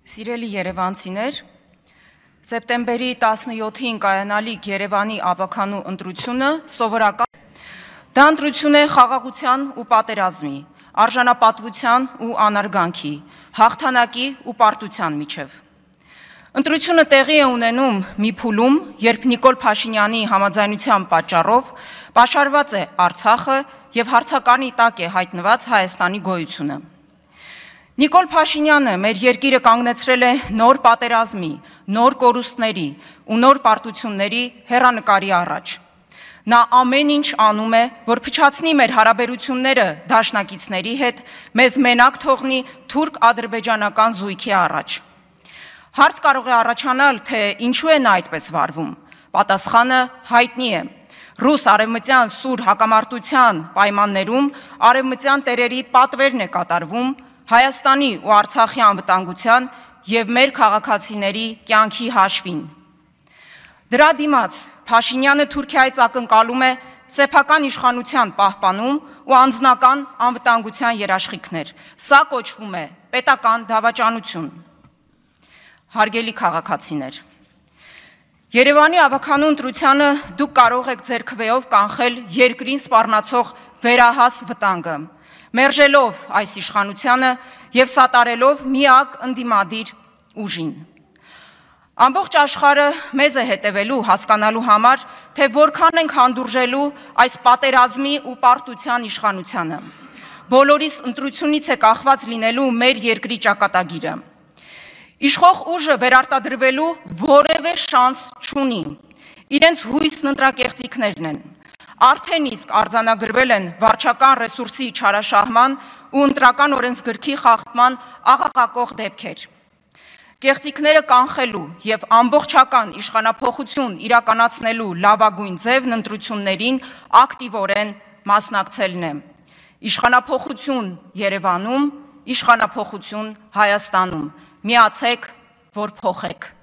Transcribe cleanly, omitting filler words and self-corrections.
Սիրելի երևանցիներ, սեպտեմբերի 17-ին կայանալիք Երևանի ավականու ընտրությունը սովորական դա ընտրություն է խաղաղության ու պատերազմի, արժանապատվության ու անարգանքի, հաղթանակի ու պարտության միջև։ Ընտրությունը տեղի է ունենում մի փուլում, երբ Նիկոլ Փաշինյանի համաձայնության պատճառով պաշարված է Արցախը եւ հարցականի տակ է հայտնված Հայաստանի գոյությունը։ Նիկոլ Փաշինյանը մեր երկիրը կանգնեցրել է նոր պատերազմի, նոր կորուստների ու նոր պարտությունների հեռանկարի առաջ։ Նա ամեն ինչ անում է, որ փչացնի մեր հարաբերությունները դաշնակիցների հետ, մեզ մենակ թողնի թուրք-ադրբեջանական զույգի առաջ։ Հարց կարող է առաջանալ, թե ինչու է նա այդպես վարվում։ Պատասխանը հայտնի է։ Ռուս արևմտյան սուր հակամարտության պայմաններում արևմտյան տերերի պատվերն է կատարվում Հայաստանի ու Արցախի անվտանգության եւ մեր քաղաքացիների կյանքի հաշվին։ Դրա դիմաց Փաշինյանը Թուրքիայից ակնկալում է սեփական իշխանության պահպանում ու անձնական անվտանգության երաշխիքներ։ Սա կոչվում է պետական դավաճանություն։ Հարգելի քաղաքացիներ, Երևանի ավականու ընտրությանը դուք կարող եք ձեր քվեով կանխել երկրին սպառնացող վերահաս վտանգը, մերժելով այս իշխանությանը եւ սատարելով միակ ընդդիմադիր ուժին։ Ամբողջ աշխարհը մեզ է հետևելու հասկանալու համար, թե որքան ենք հանդուրժելու այս պատերազմի ու պարտության իշխանությանը։ Բոլորիս ընտրությունից է կախված լինելու մեր երկրի ճակատագիրը։ Իշխող ուժը վերարտադրվելու որևէ շանս չունի։ Իրենց հույսն ընտրակեղծիքներն են։ Արդեն իսկ արձանագրվել են վարչական ռեսուրսի չարաշահման ու ընտրական օրենսգրքի խախտման աղաղակող դեպքեր։ Կեղծիքները կանխելու եւ ամբողջական իշխանափոխություն իրականացնելու լավագույն ձևն ընտրություններին ակտիվորեն մասնակցելն է։ Իշխանափոխություն Երևանում, իշխանափոխություն Հայաստանում։ Միացեք, որ փոխեք։